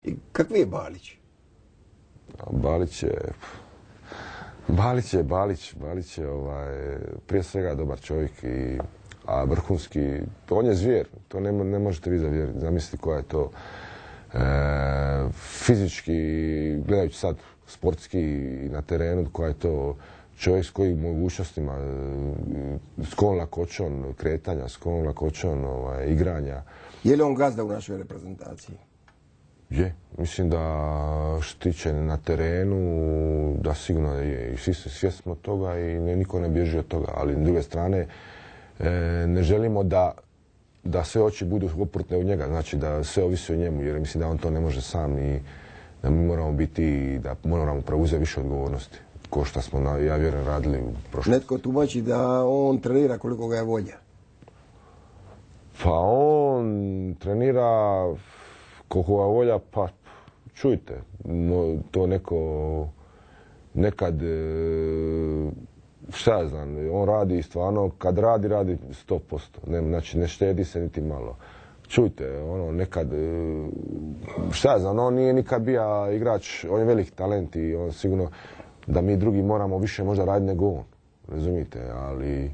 I kakvi je Balić? Balić je prije svega dobar čovjek, a vrhunski, on je zvijer, to ne možete vi zamisliti koja je to fizički, gledajući sad sportski i na terenu, koja je to čovjek s kojim mogućnostima, s kojom lakoćom kretanja, s kojom lakoćom igranja. Je li on gazda u našoj reprezentaciji? Je, mislim da što tiče na terenu, da sigurno je. I svi svjesni smo toga i niko ne bježi od toga. Ali s druge strane, ne želimo da sve oči budu oprutne u njega. Znači da sve ovisi o njemu, jer mislim da on to ne može sam i da mi moramo biti, da moramo preuzeti više odgovornosti. Ko što smo, ja vjerujem, radili u prošlosti. Netko tumači da on trenira koliko ga je volja. Pa on trenira koliko ga volja, pa čujte, to nekad, šta ja znam, on radi stvarno, kad radi 100%, znači ne štedi se niti malo. Čujte, nekad, šta ja znam, on nije nikad bio igrač, on je velik talent i on sigurno da mi drugi moramo više možda raditi nego on, razumijete, ali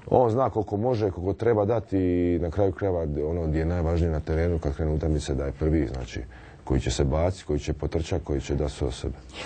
on zna koliko može, koliko treba dati i na kraju krajeva gdje je najvažnije na terenu kad krenu utakmice da je prvi, znači koji će se baciti, koji će potrčati, koji će dati sve od sebe.